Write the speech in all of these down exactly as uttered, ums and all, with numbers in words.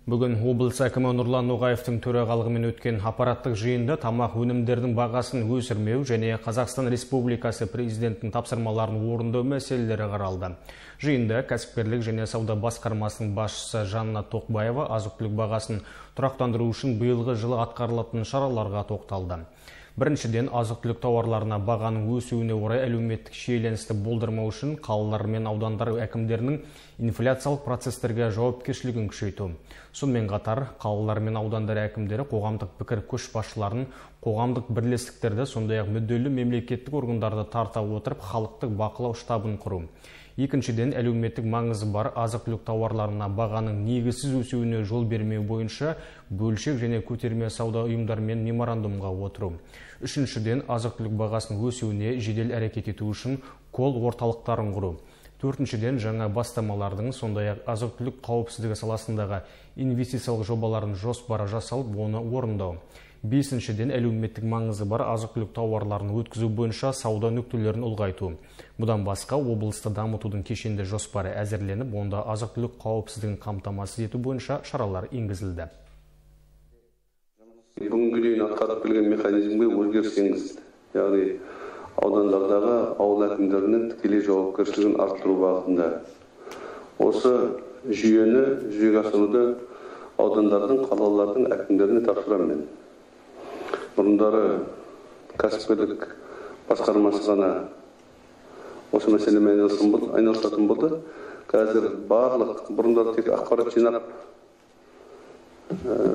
Бүгін облыс әкімі Нұрлан Ноғаевтың төрағалығымен өткен аппараттық жиында тамақ өнімдерінің бағасын өсірмеу және Қазақстан Республикасы президентінің тапсырмаларын орындау мәселелері қаралды. Жиында кәсіпкерлік және сауда басқармасының басшысы Жанна Тоқбаева азық-түлік бағасын тұрақтандыру үшін биылғы жылы атқарылатын шараларға тоқталды. Біріншіден, азық-түлік тауарларына бағаның өсуіне орай әлеуметтік шиеленісті болдырмау үшін қалалар мен аудандар әкімдерінің инфляциялық процестерге жауапкершілігін күшейту. Сонымен қатар, қалалар мен аудандар әкімдері қоғамдық пікір көшбасшыларын, қоғамдық бірлестіктерді, сондай-ақ мүдделі мемлекеттік органдарды тарта отырып, халықтық бақылау штабын құру. Екіншіден, әлеуметтік маңызы бар азық-түлік тауарларына бағаның негізсіз өсуіне жол бермеу бойынша бөлшек және көтерме сауда ұйымдарымен меморандумға отыру. Үшіншіден, азық-түлік бағасының өсуіне жедел әрекет ету үшін колл орталықтарын құру. Төртіншіден, жаңа бастамалардың, сондай-ақ азық-түлік қауіпсіздігі саласындағы инвестициялық жобалардың жоспары жасалып, оны орындау. Бесіншіден, әлеуметтік маңызы бар азық-түлік тауарларын өткізу бойынша сауда нүктелерін ұлғайту. Бұдан басқа, облысты дамытудың кешенді жоспары әзірленіп, онда азық-түлік қауіпсіздігін қамтамасыз ету бойынша шаралар енгізілді. Бүгінгі дейін атқарып келген механизмге өзгеріс енгізілді. Яғни аудандардағы ауыл әкімдерінің тікелей жауапкершілігін арттыру бағытында. Осы жүйені жүзеге асыруды аудандардың, қалалардың әкімдеріне тапсырамын. Бұрындары кәсіпкерлік басқармасы ғана осы мәселемен айналысатын болды. Қазір барлық бұрындары тек ақпарат жинап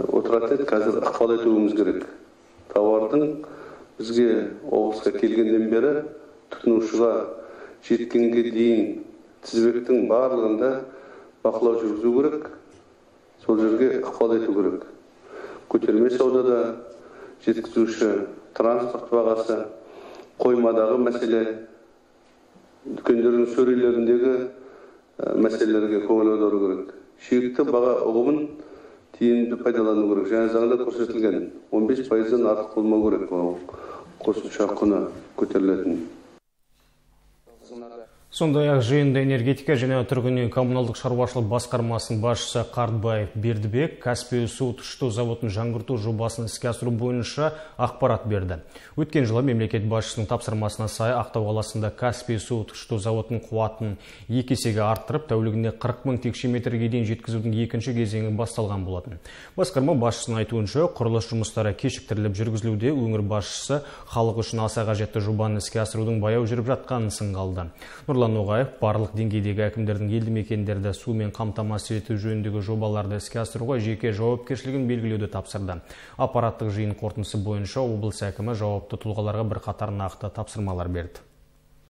отырады, қазір ықпал етуіміз керек. Тауардың бізге облысқа келгенден бері тұтынушыға жеткенге дейін тізбектің барлығында бақылау жүргізу керек, сол жерге ықпал ету керек. Көтерме саудада жеткізуші транспорт бағасы, қоймадағы мәселе, дүкендердің сөрелеріндегі мәселелерге көңіл аудару керек. Шекті баға ұғымын тиімді пайдалану керек. Және заңда көрсетілген он бес пайыздан артық болмау керек. Қосымша құны көтерілетін. Сондай-ақ жиында энергетика және тұрғын үй коммуналдық шаруашылық басқармасының басшысы Қартбаев Бердібек Каспий су тұщыту заводын жаңғырту жобасын іске асыру бойынша ақпарат берді. Өткен жылы мемлекет басшысының тапсырмасына сай Ақтау қаласында Каспий су тұщыту заводының қуатын екі есеге арттырып, тәулігіне қырық мың текше метрге дейін жеткізудің екінші кезеңі басталған болатын. Басқарма басшысының айтуынша, құрылыс жұмыстары кешіктіріліп жүргізілуде, өңір басшысы халық үшін аса қажетті жобаны іске асырудың баяу жүріп жатқанын сынға алды. Нұрлан Ноғаев барлық деңгейдегі әкімдердің елді мекендерді сумен қамтамасыз ету жөніндегі жобаларды іске асыруға жеке жауапкершілігін белгілеуді тапсырды. Аппараттық жиын қорытындысы бойынша облыс әкімі жауапты тұлғаларға бірқатар нақты тапсырмалар берді.